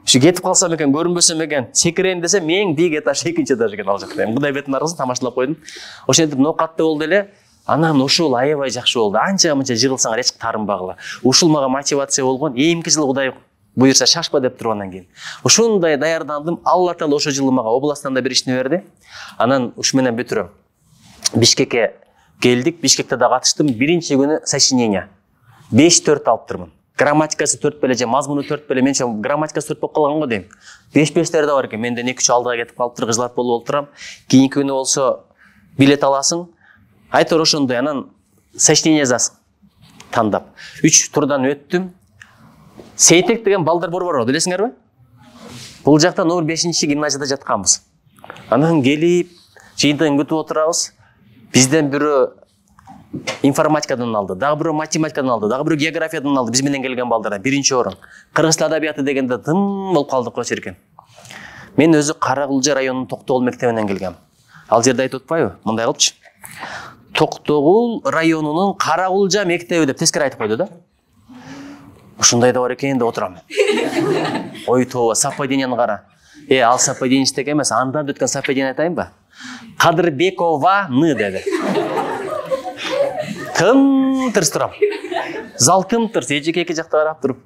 Ушу кетип калсам экен, көрүнбөсөм экен, секирейин десем, эң бийик этаж 2-этаж экен ал жакта. Кудай бетин аргысын тамашалап койдум. Ошентип ноокатты болду эле. Анан ушул аябай жакшы болду. Анча-мынча жыгылсаңар эч таарынбагыла. Ушул мага мотивация болгон. Эмки жылы Кудай буйрса шашпа деп тургандан кийин. Ушундай даярдандым. Алла Таала ошол жылы мага областан да бир ишни берди. Анан ушу менен бүтүрөм. Бишкекке келдик. Бишкекте да катыштым. Биринчи күнү сочинение. 5-4 алыптырмын. Грамматикасы 4 беле же мазмуну 4 беле. Менче грамматикасы 4 болуп калган го дейм. 5-5 да бар экен. Менден 2-3 алдыга кетип калыптыр, кыжлат болуп отурам. Кийинки күнү болсо билет аласың. Айтор ошондой, анан сочинение жазасың. Тандап. 3 турдан өттүм. Сейтек деген балдар борбор бар, билесиңерби? Бул жакта номер 5-чи гимназияда жатканбыз. Анан келип, жыйынтыгын күтүп отурабыз. Бизден бирөө информатикадан алды, дагы бирөө математикадан алды, дагы бирөө географиядан алды. Биз менен келген балдар биринчи орун. Кыргыз тил адабияты дегенде тым болуп калдык го чиркен. Мен өзү Каракулжа районунун Токтогул мектебинен келгем. Ал жерде айтып атпайбы? Мындай кылчы. Токтогул районунун Каракулжа мектеби деп тескери айтып койду да. Ушундай да бар экен деп отурам. Ой тоо, совпадениени кара. Ал совпадение теге эмес, андан өткөн совпадение айтайынбы? Кадырбекованы деди. Тым-тырс турам. Зал тым-тырс, эжеке жакта карап туруп.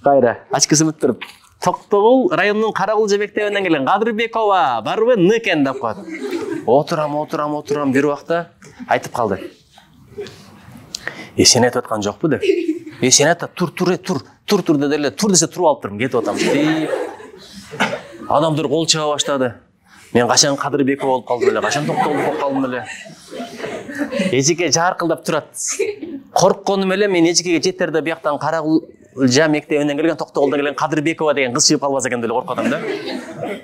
Кайра, ачкысы мыт туруп. Токтогул районунун Каракулжа мектебинен келген Кадырбекова барбы? Ны экен деп коет. Отурам, бир убакта айтып калды. Сен айтып аткан жокпу деп. Сен айтат, тур деди эле, тур десе туруп алып турмун, кетип атам. Адамдар кол чаба баштады. Мен качан Кадырбекова болуп калдым эле, качан Токтогул болуп калдым эле. Эжеке жаркылдап турат. Коркконум эле мен эжекеге жетерде бияктан Каракулжа мектебинен келген, Токтогулдан келген Кадырбекова деген кыз чыгып калбаса экен деп коркуп атам да.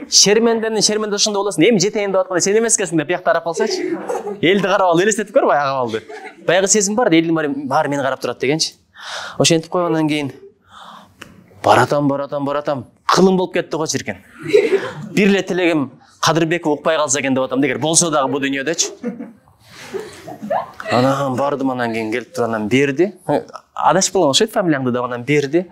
Шерменде ошондой болосуң. Эми жетейин деп атканда сен эмес экенсиң деп биякта карап калсачы. Элди карап ал, элестетип көр баягы абалды. Баягы сезим бар, элдин баары мени карап турат дегенчи. Ошентип койгондон кийин баратам. Кылым болуп кетти го чиркен. Бир эле тилегим Кадырбеков укпай калса экен деп атам, эгер болсо дагы бу дүйнөдөчү. Анан бардым, анан кийин келип туруп анан берди. Адашып калган окшойт фамилияңды деп анан берди.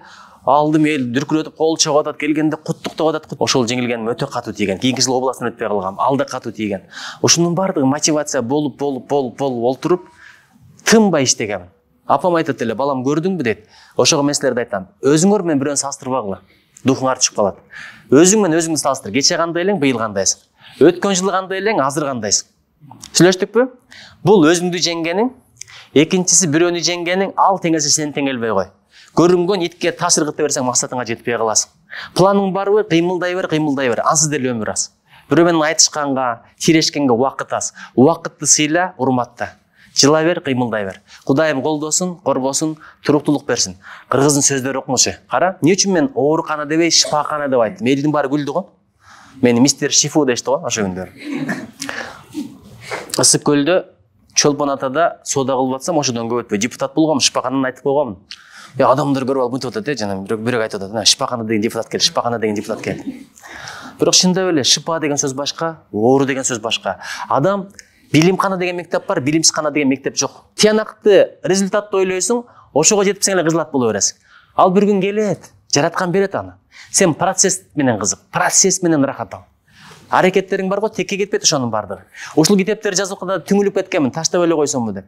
Алдым, эл дүркүрөтүп кол чабып атат, келгенде куттуктап атат. Ошол жеңилгеним өтө катуу тийген. Кийинки жылы областан өтпөй калгам. Ал да катуу тийген. Ошонун бардыгы мотивация болуп олтуруп тынбай иштегем. Апам айтат эле, балам көрдүңбү дейт. Ошого мен силерге айтам, өзүңөр менен бирөөнү салыштырбагыла. Духуңар түшүп калат. Өзүң менен өзүңдү салыштыр. Кече кандай элең, быйыл кандайсың? Өткөн жылы кандай элең, азыр кандайсың? Сүйлөштүкпү? Бул өзүңдү жеңгениң, экинчиси бирөөнү жеңгениң, ал теңелсе сени теңелбей кой. Көрүнгөн итке таш ыргыта берсең максатыңа жетпей каласың. Планың барбы? Кыймылдай бер. Ансыз деле өмүр аз. Бирөө менен айтышканга, тирешкенге убакыт аз. Убакытты сыйла, урматта. жыла бер, кыймылдай бер. Кудайым колдосун, коргосун, туруктуулук берсин. Кыргыздын сөздөрү окуңузчу. Кара, эмне үчүн мен оорукана дебей, шифакана деп айттым? Элдин баары күлдү го. Мени мистер Шифу дешти го ошо күндөрү. Ысык көлдө Чолпон атада соода кылып атсам, ошодон көп өтпөй депутат болгом, шифакананы айтып койгомун. Адамдар көрүп алып мынтип атат, жана бирок айтып атат, шифакана деген депутат келди, шифакана деген депутат келди. Бирок чындап эле шипа деген сөз башка, оору деген сөз башка. Адам билимкана деген мектеп бар, билимсизкана деген мектеп жок. Тиянакты результатты ойлойсуң, ошого жетипсең эле кызылат боло бересиң. Ал бир күн келет, жараткан берет аны. Сен процесс менен кызык, процесс менен рахат ал. Аракеттериң бар го, текке кетпейт ошонун бардыгы. Ушул китептерди жазганда түңүлүп кеткенмин, таштап эле койсомбу деп.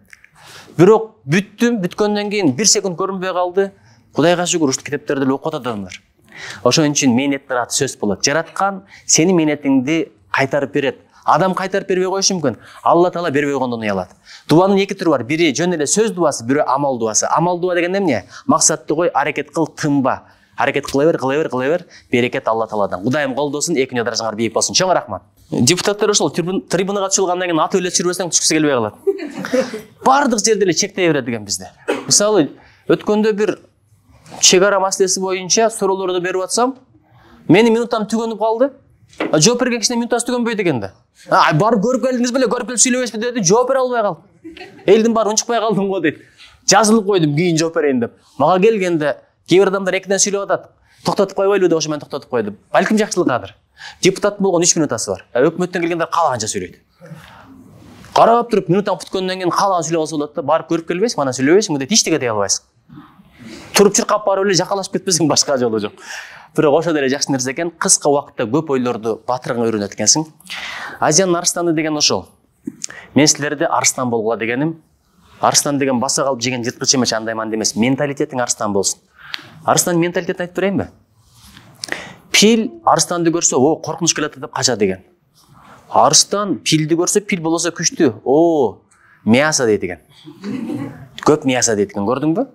Бирок бүттүм, бүткөндөн кийин 1 секунд көрүнбөй калды. Кудайга шүгүр, ушул китептерди окуп атат адамдар. Ошон үчүн мээнеттер аты сөз болот. Жараткан сени мээнетиңди кайтарып берет. Адам кайтарып бербей коюшу мүмкүн. Алла Таала бербей койгондон уялат. Дуанын эки түрү бар. Бири жөн эле сөз дуасы, бири амал дуасы. Амал дуа деген эмне? Максатты кой, аракет кыл, тынба. Аракет кыла бер. Берекет Алла Тааладан. Кудайым колдосун, экинчи даражаңар бийик болсун. Чоң рахмат. Депутаттар ошол трибунага чыгылгандан кийин ат ойлоп жүрбөсөң түшкүсү келбей калат. Бардык жерде эле чектей берет экен бизде. Мисалы, өткөндө бир чек ара маселеси боюнча суроолорду берип атсам, менин минутам түгөнүп калды. Жооп берген кишинин минутасы түгөнбөйт экен да. Барып көрүп келдиңиз беле, көрүп келип сүйлөбөйсүзбү деди, жооп бере албай калдым. Элдин баары унчукпай калдым го дейт. Жазылып койдум, кийин жооп берейин деп. Мага келгенде кээ бир адамдар экиден сүйлөп атат. Токтотуп койбойлу деп ошо мен токтотуп койдум. Балким жакшылыгыдыр. Депутат болгон 3 минутасы бар. Өкмөттөн келгендер каалаганча сүйлөйт. Карап туруп минутаң бүткөндөн кийин каалаган сүйлөп алса болот да, барып көрүп келбейсиң, анан сүйлөбөйсүң дейт, эчтеке дей албайсың. Туруп чыркап барып эле жакалашып кетпесең башка жолу жок. Бирок ошо деле жакшы нерсе экен, кыска убакытта көп ойлорду батырганга үйрөнөт экенсиң. Азиянын арстаны деген ошол. Мен силерди арстан болгула дегеним, арстан деген баса калып жеген жырткыч эмес, андай мындай эмес, менталитетиң арстан болсун. Арстан менталитетин айтып берейинби? Пил арстанды көрсө, о, коркунуч келет деп качат деген. Арстан пилди көрсө, пил болосо күчтүү. О, мясо дейт экен. Көп мясо дейт экен, көрдүңбү?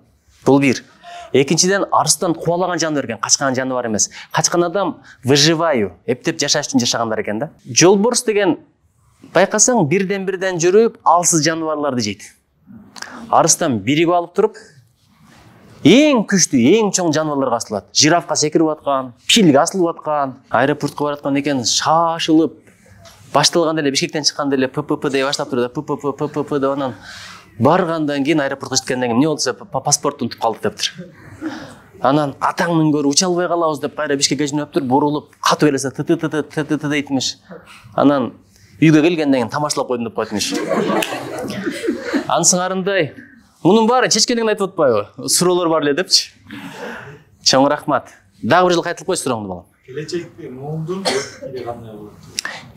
Бул бир. Экинчиден, арстан кубалаган жаныбар экен, качкан жаныбар эмес. Качкан адам выживаю, эптеп жашаш үчүн жашагандар экен да. Жолборс деген байкасаң бирден жүрүп, алсыз жаныбарларды жейт. Арстан биригип алып туруп, эң күчтүү, эң чоң жаныбарларга асылат. Жирафка секирип аткан, пилге асылып аткан, аэропортко бараткан экен, шашылып, башталганда эле Бишкектен чыкканда эле ППП дей баштап турду, ППП деп анан баргандан кийин аэропортко жеткенден кийин эмне болду десе, паспортту унутуп калдык дептир. Анан атаңдын көрү уча албай калабыз деп кайра Бишкекке жөнөптүр, бурулуп, катып элесе т дейтмиш. Анан үйгө келгенден кийин тамашалап койдум деп койтмуш. Ансыңарындай, мунун баары чечкенден айтып атпайбы? Суроолор бар эле депчи. Чоң рахмат. Дагы бир жыл кайтылып кой сурооңду балам. Келечекте муундун ой пикири кандай болот?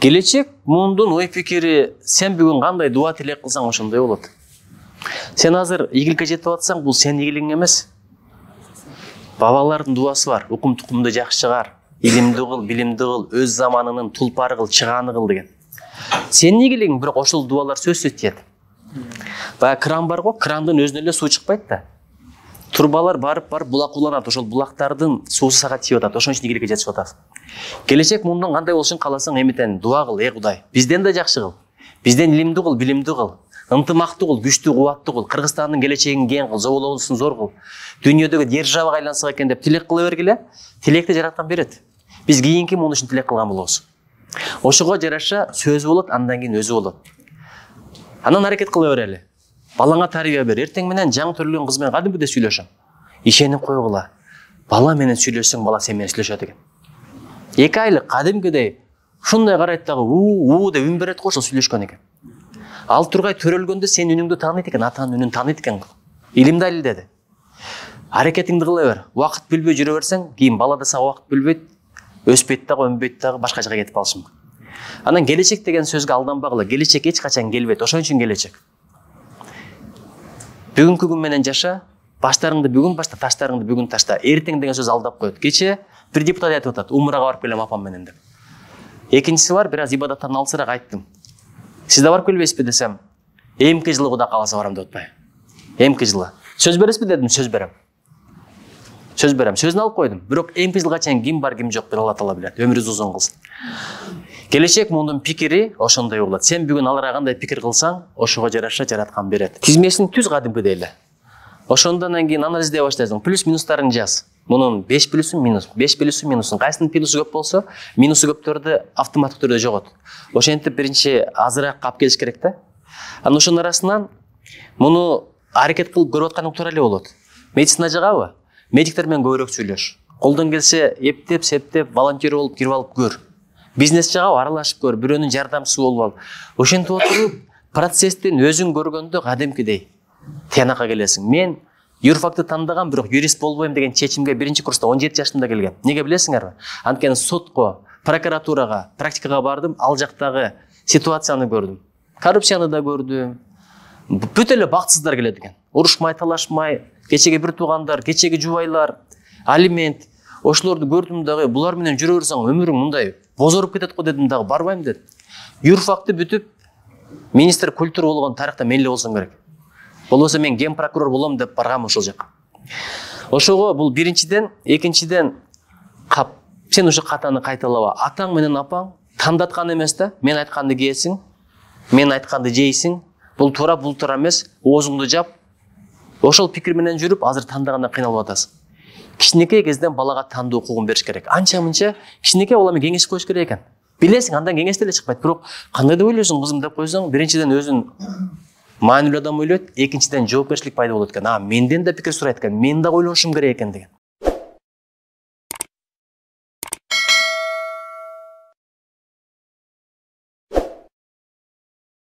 Келечек муундун ой пикири, сен бүгүн кандай дуа тилек кылсаң ошондой болот. Сен азыр ийгиликке жетип атсаң, бул сенин ийгилигиң эмес. Бабалардын дуасы бар. Укум тукумду жакшы чыгар, илимди кыл, билимди кыл, өз заманынын тулпары кыл, чыгааны кыл деген. Сенин ийгилигиң, бирок ошол дуалар сөзсүз тиет. Баягы кран бар го, крандын өзүнөн эле суу чыкпайт да. Турбалар барып булак уланат, ошол булактардын суусу сага тийип атат, ошон үчүн ийгиликке жетип атасың. Келечек мундан кандай болушун кааласаң, эметен дуа кыл, Кудай. Бизден да жакшы кыл. Бизден илимди кыл, билимди кыл. Ынтымактуу кыл, күчтүү, кубаттуу кыл. Кыргызстандын келечегин кең кыл, зоболоосун зор кыл. Дүйнөдөгү державага айлансак экен деп тилек кыла бергиле. Тилекти жараткан берет. Биз кийинки муну үчүн тилек кылган болобуз. Ошого жараша сөзү болот, андан кийин өзү болот. Анан аракет кыла берели. Балаңа тарбия бер. Эртең менен жаңы төрөлгөн кыз менен кадимгидей сүйлөшөм. Ишенип койгула. Бала менен сүйлөшсөң, бала сен менен сүйлөшөт экен. 2 айлык кадимгидей ушундай карайт дагы уу деп үн берет го, ошол сүйлөшкөн экен. Ал тургай төрөлгөндө сен үнүңдү тааныйт экен, атанын үнүн тааныйт экен. Илим далилдеди. Аракетиңди кыла бер. Убакыт билбей жүрө берсең, кийин бала да сага убакыт билбейт, өспөйт дагы, өнбөйт дагы, башка жака кетип калышы мүмкүн. Анан келечек деген сөзгө алданбагыла. Келечек эч качан келбейт. Ошон үчүн келечек. Бүгүнкү күн менен жаша, баштарыңды бүгүн башта, таштарыңды бүгүн ташта. Эртең деген сөз алдап коет. Кече бир депутат айтып атат, умрага барып келем апам менен деп. Экинчиси бар, бир аз ибадаттан алысыраак айттым. Сиз да барып келбейсизби десем, эмки жылы Кудай кааласа барам деп атпайбы. Эмки жылы. Сөз бересизби дедим, сөз берем. сөз берем, сөзүн алып койдум. Бирок эми жылга чейин ким бар, ким жок, бир Алла таала билет. Өмүрүбүз узун кылсын. Келечек мундун пикири ошондой болот. Сен бүгүн аларга кандай пикир кылсаң, ошого жараша жараткан берет. Тизмесин түз кадимкидей эле. Ошондон кийин анализдей баштайсың. Плюс минустарын жаз. Мунун 5 плюсун минус, 5 плюсун минусун. Кайсынын плюсу көп болсо, минусу көптөрдү автоматтык түрдө жогот. Ошентип биринчи азыраак алып келиш керек да. Анан ошонун арасынан муну аракет кылып көрүп аткан тура эле болот. Медицина жагабы? Медиктер менен көбүрөөк сүйлөш. Колдон келсе эптеп, септеп, волонтер болуп кирип алып көр. Бизнес жагабы? Аралашып көр, бирөөнүн жардамчысы болуп ал. Ошентип отуруп, процесстин өзүн көргөндө кадимкидей тиянака келесиң. Мен юрфакты тандаган, бирок юрист болбойм деген чечимге биринчи курста 17 жашымда келгем. Неге билесиңерби? Анткени сотко, прокуратурага, практикага бардым, ал жактагы ситуацияны көрдүм. Коррупцияны да көрдүм. Бүт эле бактсыздар келет экен. Урушмай, талашмай, кечеги бир туугандар, кечеги жубайлар, алимент. Ошолорду көрдүм дагы, булар менен жүрө берсең өмүрүң мындай бозоруп кетет го дедим дагы, барбайм дедим. Юрфакты бүтүп, министр культура болгон тарихта мен эле болсом керек. Болбосо мен ген прокурор болом деп баргам ошол жака. Ошого бул биринчиден, экинчиден сен ушу катаны кайталаба. Атаң менен апаң тандаткан эмес да. Мен айтканды кийесиң, мен айтканды жейсиң. Бул туура, бул туура эмес. Оозуңду жап. Ошол пикир менен жүрүп, азыр тандаганда кыйналып атасың. Кичинекей кезден балага тандоо укугун бериш керек. Анча-мынча кичинекей бала менен кеңешип коюш керек экен. Билесиң, андан кеңеш деле чыкпайт. Бирок кандай деп ойлойсуң кызым деп койсоң, биринчиден өзүн маанилүү адам ойлойт, экинчиден жоопкерчилик пайда болот экен. Менден да пикир сурайт экен, мен да ойлонушум керек экен деген.